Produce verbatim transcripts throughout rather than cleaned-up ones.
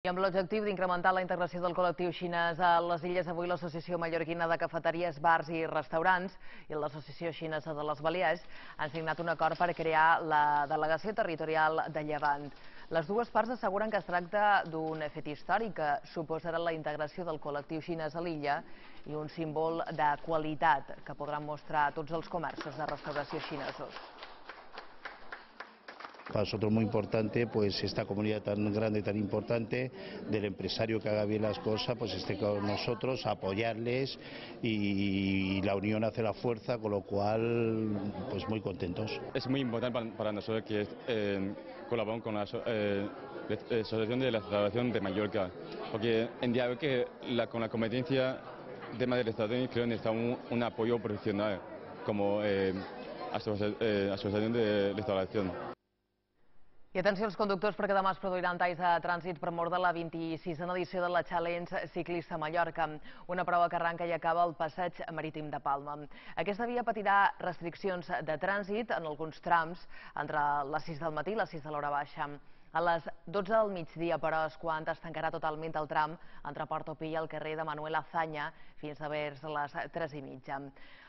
I amb l'objectiu d'incrementar la integració del col·lectiu xinès a les illes, avui l'Associació Mallorquina de Cafeteries, Bars i Restaurants i l'Associació Xinesa de les Balears han signat un acord per crear la Delegació Territorial de Llevant. Les dues parts asseguren que es tracta d'un fet històric que suposarà la integració del col·lectiu xinès a l'illa i un símbol de qualitat que podran mostrar tots els comerços de restauració xinesos. Para nosotros muy importante, pues esta comunidad tan grande, tan importante, del empresario que haga bien las cosas, pues esté con nosotros, apoyarles y la unión hace la fuerza, con lo cual, pues muy contentos. Es muy importante para, para nosotros que eh, colaboramos con la eh, Asociación de la Restauración de Mallorca, porque en día de hoy que la, con la competencia de tema de restauración creo que necesitamos un, un apoyo profesional como eh, asocia, eh, Asociación de Restauración. I atenció als conductors perquè demà es produiran talls de trànsit per mort de la vint-i-sisena edició de la Challenge Ciclista Mallorca, una prova que arranca i acaba al passeig marítim de Palma. Aquesta via patirà restriccions de trànsit en alguns trams entre les sis del matí i les sis de l'hora baixa. A les dotze del migdia, però, és quan es tancarà totalment el tram entre Portopí i el carrer de Manuel Azaña fins a vers les tres i mitja.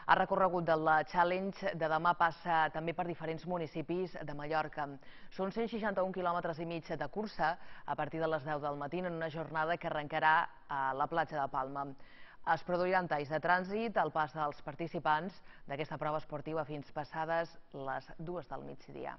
El recorregut de la Challenge de demà passa també per diferents municipis de Mallorca. Són cent seixanta-un quilòmetres i mig de cursa a partir de les deu del matí en una jornada que arrencarà a la platja de Palma. Es produiran talls de trànsit al pas dels participants d'aquesta prova esportiva fins passades les dues del migdia.